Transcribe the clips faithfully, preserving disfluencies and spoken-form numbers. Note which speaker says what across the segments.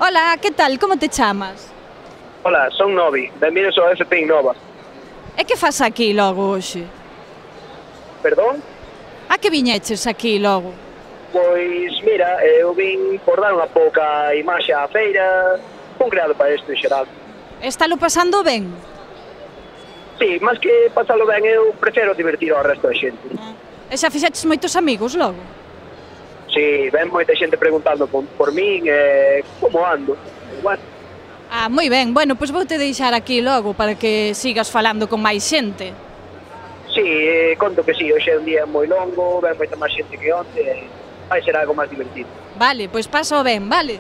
Speaker 1: Ola, que tal? Como te chamas?
Speaker 2: Ola, son Novi, benvidos ao F P Innova.
Speaker 1: E que fas aquí logo hoxe?
Speaker 2: Perdón?
Speaker 1: A que viñeches aquí logo?
Speaker 2: Pois, mira, eu vin por dar unha pouca imaxe á feira, un creado para isto en xeral.
Speaker 1: Estalo pasando ben?
Speaker 2: Sí, máis que pasalo ben, eu prefiro divertir ao resto da xente.
Speaker 1: E xa fixeches moitos amigos logo?
Speaker 2: Sí, ven moita xente preguntando por, por min, eh, como ando. Bueno,
Speaker 1: Ah, moi ben. Bueno, pois vou te deixar aquí logo para que sigas falando con máis xente.
Speaker 2: sí, eh, conto que sí, hoxe é un día moi longo, ven moita máis xente que onte, e vai ser algo máis divertido.
Speaker 1: Vale, pois paso ben, vale?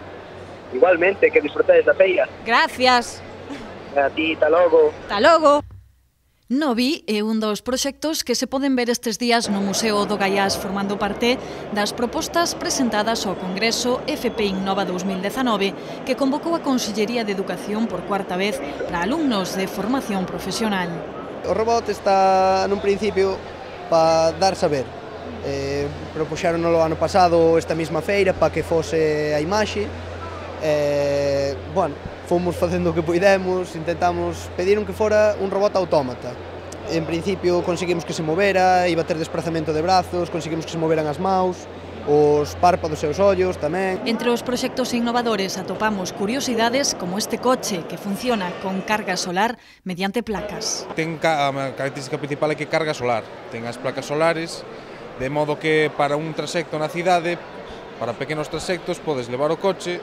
Speaker 2: Igualmente, que disfrutedes da feira.
Speaker 1: Gracias.
Speaker 2: A ti, ta logo.
Speaker 1: Ata logo. Novi é un dos proxectos que se poden ver estes días no Museo do Gaiás formando parte das propostas presentadas ao Congreso F P Innova dous mil dezanove que convocou a Consellería de Educación por cuarta vez para alumnos de formación profesional.
Speaker 3: O robot está nun principio para dar saber. Eh, propuxéronolo ano pasado esta mesma feira para que fose a imaxe. Eh, bueno, fomos facendo o que puidemos, intentamos, pediron que fora un robot autómata. En principio conseguimos que se movera, iba a ter desplazamento de brazos, conseguimos que se moveran as maus, os párpados e os ollos tamén.
Speaker 1: Entre os proxectos innovadores atopamos curiosidades como este coche que funciona con carga solar mediante placas.
Speaker 4: Ten a característica principal é que carga solar, ten as placas solares, de modo que para un trasecto na cidade, para pequenos trasectos, podes levar o coche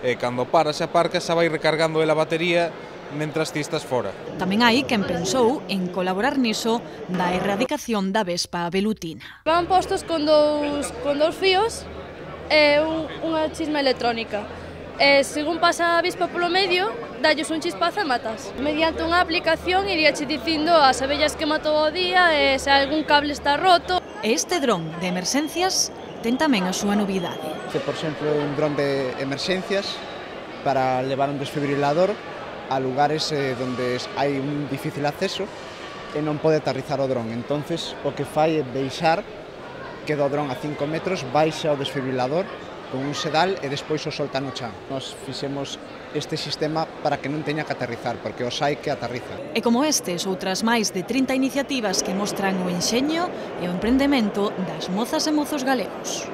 Speaker 4: e cando paras e aparcas xa vai recargando a batería mentras ti estás fora.
Speaker 1: Tamén hai quen pensou en colaborar niso da erradicación da vespa velutina.
Speaker 5: Van postos con dous, con dous fíos e un, unha chisma electrónica. E según pasa a avispa polo medio, dalles un chispazo e matas. Mediante unha aplicación iríache dicindo as abellas que matou o día e se algún cable está roto.
Speaker 1: E este dron de emerxencias ten tamén a súa novidade.
Speaker 6: Por exemplo, un dron de emerxencias para levar un desfibrilador a lugares eh, donde hai un difícil acceso e non pode aterrizar o dron. Entonces, o que fai é deixar que do dron a cinco metros baixa o desfibrilador con un sedal e despois o solta no chan. Nos fixemos este sistema para que non teña que aterrizar, porque os hai que aterriza.
Speaker 1: E como estes, outras máis de trinta iniciativas que mostran o enxeño e o emprendemento das mozas e mozos galegos.